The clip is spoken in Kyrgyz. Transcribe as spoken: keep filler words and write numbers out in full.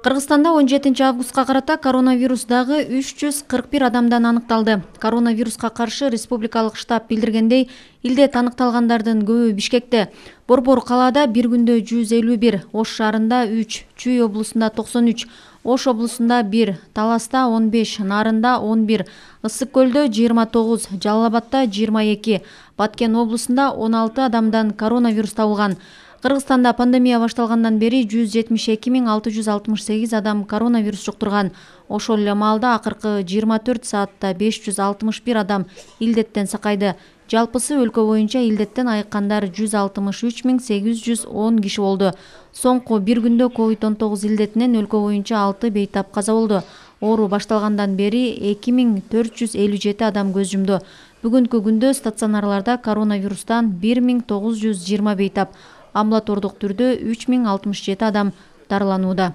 Кыргызстанда он жетинчи августка карата коронавирус дагы үч жүз кырк бир адамдан аныкталды. Коронавируска каршы республикалык штаб билдиргендей, илдет аныкталгандардын көбү Бишкекте. Борбор калаада бир күндө жүз элүү бир, Ош шаарында үч, Чүй облусунда токсон үч, Ош облусунда бир, Таласта он беш, Нарында он бир, Ысык көлдө жыйырма тогуз, Жалал абадта жыйырма эки, Баткен облусунда он алты адамдан коронавирус табылган. Кыргызстанда пандемия башталгандан бери жүз жетимиш эки миң алты жүз алтымыш сегиз адам коронавирус жуктурган. Ошол эле маалда акыркы жыйырма төрт саатта беш жүз алтымыш бир адам илдеттен сакайды. Жалпысы өлкө боюнча илдеттен айыккандар жүз алтымыш үч миң сегиз жүз он киши болду. Соңку бир күндө ковид он тогуз илдетинен өлкө боюнча алты бейтап каза болду. Оору башталгандан бери эки миң төрт жүз элүү жети адам көз жумду. Бүгүнкү күндө стационарларда коронавирустан бир миң тогуз жүз жыйырма бейтап, амбулатордук түрдө үч миң алтымыш жети адам дарыланууда.